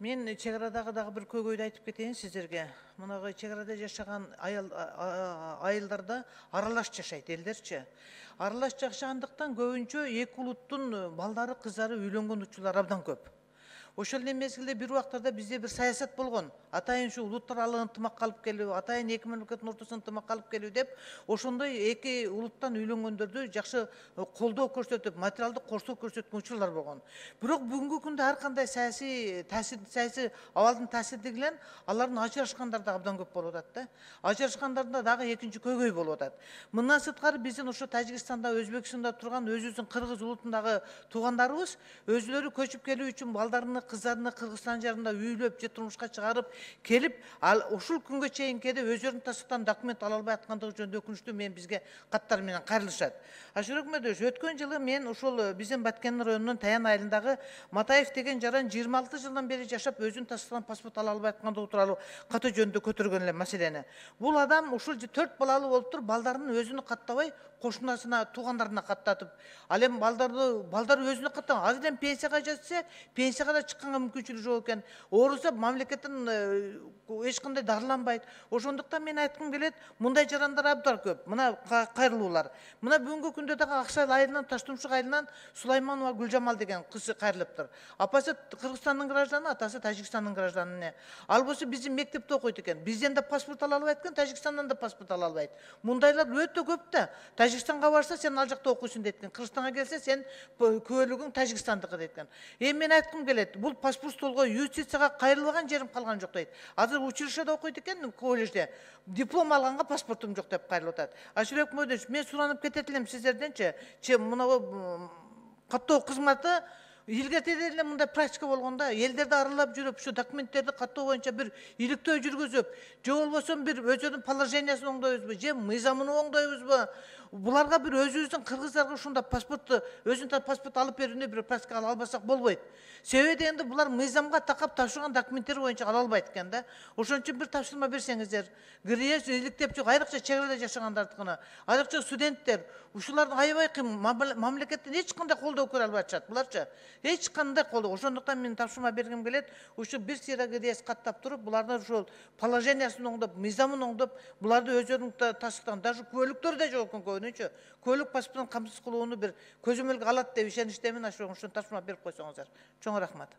Мен чек арадагы дагы бир көйгөйдү айтып кетейин сиздерге. Мынагы чек арада жашаган айылдарда аралаш жашайт элдерчи. Аралаш жашагандыктан көбүнчө эки улуттун балдары, кыздары үйлөнгөн учурлар абдан көп. Ошол эле мезгилде бир убактарда бизде бир саясат болгон. Атайын ушу улуттар аралык ынтымакка алып келүү, атайын эки мамлекеттин ортосуна ынтымакка алып келүү деп, ошондой эки улуттан үйлөнгөндөрдү жакшы колдоо көрсөтүп, материалдык корсоо көрсөткөн учурлар болгон. Бирок бүгүнкү күндө ар кандай саясий абалдын таасири менен алардын ажырашкандар да абдан көп болуп атат да. Ажырашкандарда дагы экинчи көйгөй болуп атат. Мындан сырткары биздин ошо Тажикстанда, Өзбекстанда турган өзүбүздүн кыргыз улутундагы туугандарыбыз өзүлөрү көчүп келүү үчүн балдарына кыздарына Кыргызстан жарында үйлөп же турмушка чыгарып келип, ал ушул күнгө чейин кеде өздөрүнүн тастыктан документ ала албай аткандыгы жөнүндө өкүнүчтүү менен бизге каттар менен кайрылышат. Ашура Өкмөтович, өткөн жылы мен ушул биздин Баткен районунун Таян айылындагы Матаев деген жаран 26 жылдан бери жашап өзүнүн тастыктан паспорт ала албай аткандыгы тууралуу каты жөнүндө көтөргөн элем маселени. Бул адам ушул 4 балалуу болуп туруп, балдарын өзүнү каттабай, кошунасына, туугандарына каттатып, ал эми балдар өзүнө каттаган. Азыр эми пенсияга жатса, пенсияга да чыкканга мүмкүнчүлүгү жок экен. Ооруса мамлекеттен эч кандай дарыланбайт. Ошондуктан мен айткым келет, мындай жарандар абдан көп. Мына кайрылуулар. Мына бүгүнкү күндө дагы Аксай айылынан, Таштумшук айылынан Сулайманова Гүлжамал деген кызы кайрылыптыр. Апасы Кыргызстандын гражданы, атасы Тажикстандын гражданы. Ал болсо биздин мектепте окуйт экен. Бизден да паспорт ала албайт экен, Тажикстандан да паспорт ала албайт. Мындайлар өтө көп да. Тажикстанга барса сен ал жакта окуйсуң дейт экен. Кыргызстанга келсе сен күбөлүгүң Тажикстандыкы дейт экен. Эми мен айткым келет, бул паспорт столго юстицияга кайрылбаган жерим калган жок дейт. Азыр училищеде окуйт экен, колледжде. Диплом алганга паспортум жок деп кайрылып атат. Ашура Өкмөтович, мен суранып кетет элем сиздерденчи. Мына каттоо кызматы илгертеде эле мындай практика болгондо, элдерди аралап жүрүп, ушу документтерди каттоо боюнча бир иликтөө жүргүзүп, же болбосо бир өзүнүн положениясын оңдойбузбу, же мыйзамын оңдойбузбу? Буларга бир өзүбүздүн кыргыздарга ушундай паспортту, өзүнүн паспорт алып берүүнү бир практика ала албасак болбойт. Себеби дегенде булар мыйзамга такап тапшырган документтер боюнча ала албайт экен да. Ошон үчүн бир тапшырма берсеңиздер. Киргиз иликтеп жок, айрыкча чек арада жашагандардыкына, айрыкча студенттер, ушулардын аябай мамлекеттен эч кандай колдоо көрө албай атышат. Буларчы эч кандай колдоо. Ошондуктан мен тапшырма бергим келет. Ушу бир сыйра киргиз каттап туруп, булардын ушул положениясын оңдоп, мыйзамын оңдоп, буларды өздөрүнүн тастыктан, даже күбөлүктөр да жок экен көбүнчө. Көбөлүк паспортун камсыз кылууну бир көзөмөлгө алат деп ишеничтемин. Ошон тапшырма берип койсоңуздар. Чоң рахмат.